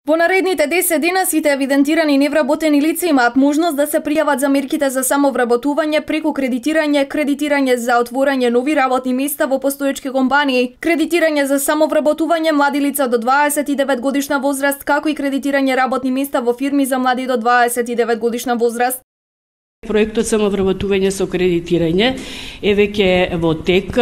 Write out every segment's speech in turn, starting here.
Во наредните 10 дена сите евидентирани невработени лица имаат можност да се пријават за мерките за самовработување преку кредитирање за отворање нови работни места во постоечки компании, кредитирање за самовработување млади лица до 29 годишна возраст, како и кредитирање работни места во фирми за млади до 29 годишна возраст. Проектот самовработување со кредитирање е веќе во тек,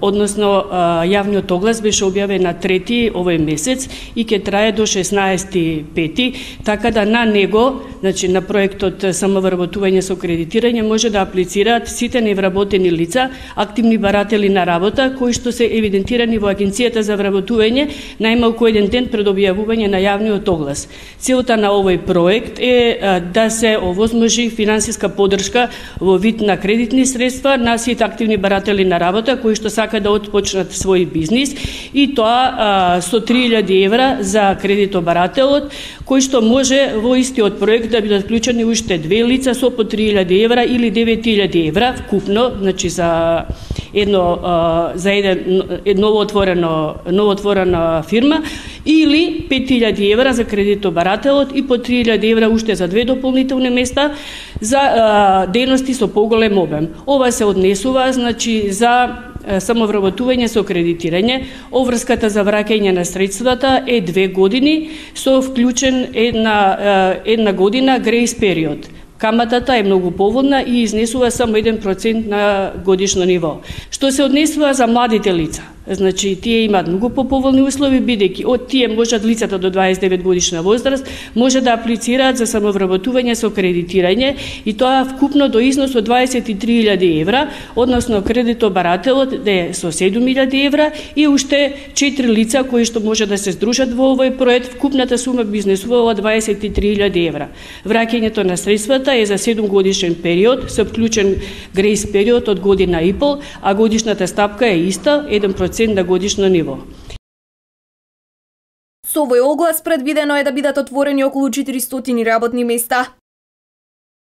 односно јавниот оглас беше објавен на 3 овој месец и ќе трае до 16.5, така да на него, значи на проектот самовработување со кредитирање може да аплицираат сите невработени лица, активни баратели на работа кои што се евидентирани во Агенцијата за вработување најмалку еден ден пред објавување на јавниот оглас. Целта на овој проект е да се овозможи финансиска поддршка во вид на кредитни средства на сите активни баратели на работа кои што сака да отпочнат свој бизнис, и тоа со 3000 евра за кредитобарателот, кој што може во истиот проект да бидат вклучени уште 2 лица со по 3000 евра или 9000 евра вкупно, значи за новоотворена фирма, или 5000 евра за кредитобарателот и по 3000 евра уште за 2 дополнителни места за дејности со поголем обем. Ова се однесува, значи, за самовработување со кредитирање. Оврската за враќање на средствата е 2 години со вклучен една година грејс период. Каматата е многу поволна и изнесува само 1% на годишно ниво. Што се однесува за младите лица, значи тие имаат многу поповолни услови, бидејќи од тие можат лицата до 29 годишна возраст може да аплицираат за самовработување со кредитирање, и тоа вкупно до износ од 23.000 евра, односно кредитобарателот е со 7.000 евра и уште 4 лица кои што може да се здружат во овој проект. Вкупната сума би изнесувала 23.000 евра. Враќањето на средствата е за 7 годишен период со вклучен грејс период од година и пол, а годишната стапка е иста, 1% на годишно ниво. Со овој оглас предвидено е да бидат отворени околу 400 работни места.